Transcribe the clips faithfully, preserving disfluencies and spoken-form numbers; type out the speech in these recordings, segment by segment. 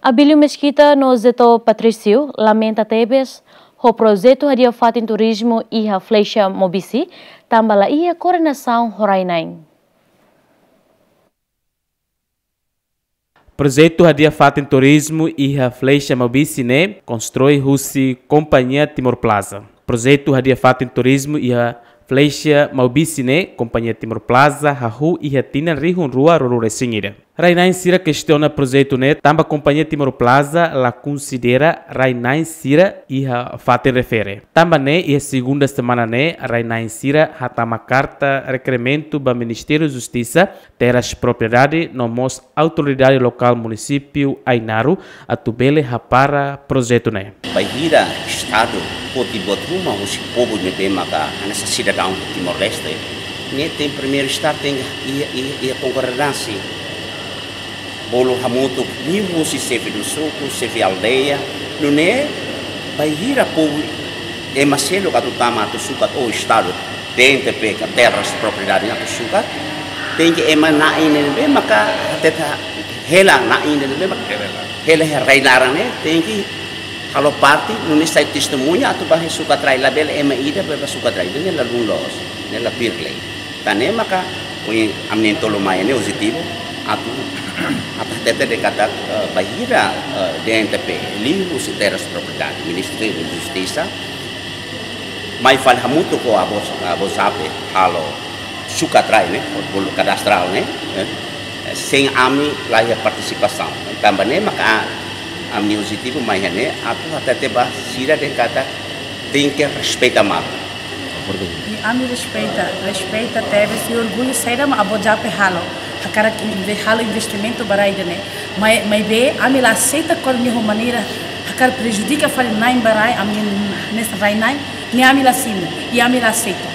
Abílio Mesquita no Zeto Patrício lamenta tebes ho projetu hadi'a fatin turizmu iha Flecha Maubisse, tanba la iha koordenasaun ho rai-na'in. Projetu hadi'a fatin turizmu iha Flecha Maubisse ne'e konstrui husi Kompañia Timor Plaza. Projetu hadi'a fatin turizmu iha Flecha Maubisse ne'e Kompañia Timor Plaza hahú iha tinan rihun rua ruanulu-resin-ida. Rai-na'in sira kestiona projetu ne'e tanba Kompañia Timor Plaza la konsidera rai-na'in sira iha fatin refere. Tanba ne'e iha segunda semana ne'e rai-na'in sira hatama karta rekerimentu ba Ministériu Justisa, Terras Propriedade no mós Autoridade Lokál Munisípiu Ainaro atu bele hapara projetu ne'e. Bainhira Estadu foti buat ruma husi povu ne'ebé maka hanesan sidadaun Timor-Leste, ne'e tenke primeiru estar tenke iha, iha, iha konkordánsia. Bolu hamutuk liuhusi xefe suku, xefe aldeia, nune'e bainhira povu ema seluk atu tama atu sukat ho Estadu, D N T P ka Terras Propriedade atu sukat, tenke ema na'in ne'ebé maka hatete hela na'in ne'ebé maka hela iha rai-laran ne'e, tenke halo parte, nune'e sai testemuña atu ba iha sukat rai, labele ema ida ba, ba sukat rai, ne'e la dún loos, ne'e la tuir lei. Tan ne'e maka, ohin ami na'in-tolu mai ne'e objetivu, atu, atu hatete dehan katak, eh, bainhira, eh, D N T P, liuhusi Terras Propriedade, Ministériu Justisa, mai fali hamutuk ho Abu, Abu Zape, halo sukat rai ne'e, bolu kadastrál ne'e, eh, sein ami la iha partisipasaun. Tanba ne'e maka ami objetivu mai iha ne'e, atu hatete ba sira dehan katak tenke respeita malu. I ami respeita, respeita tebes i orgullu saida mak Abu Zape halo. Hakarak inve-, halo investimentu ba rai ida-ne'e. Mai, maibé ami la aseita kuandu nia ho maneira hakarak prejudika fali na'in ba rai, ami hanesan rai-na'in, ne'e ami la simu, i ami la aseita.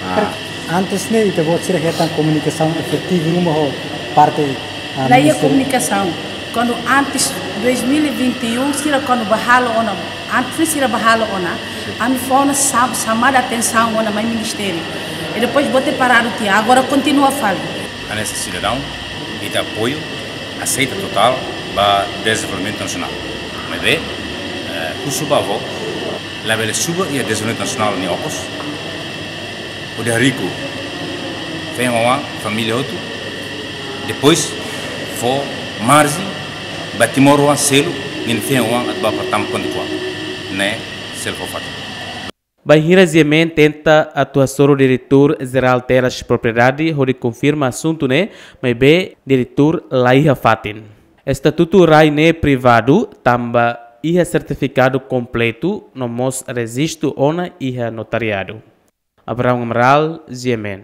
Ah. Antes ne'e, ita-boot sira hetan komunikasaun efetivu ruma ho parte, ah, la iha ministériu? Komunikasaun. Kuandu antes dois mil e vinte e um, sira kuandu bá halo ona, antes sira bá halo ona, ami fó ona sa-, xamada atensaun ona mai ministériu. I depois bote paradu tiha, agora kontinua fali. Hanesan sidadaun, ita apoiu, aseita totál ba dezenvolvimentu nasionál. Maibé, eh, husu ba avó, labele subar iha dezenvolvimentu nasionál nia okos, hodi hariku feen-oan, família hotu, depois fó marjen ba timoroan seluk ninia feen-oan atu bá para tama konta kuak. Ne'e seluk fó fatin. Bainhira G M N tenta atu hasoru Diretór Jerál Terras Propriedade hodi konfirma asuntu ne'e, maibé diretór la iha fatin. Estatutu rai ne'e privadu, tanba iha sertifikadu kompletu no mós rejistu ona iha notariadu. Abraão Amaral, G M N.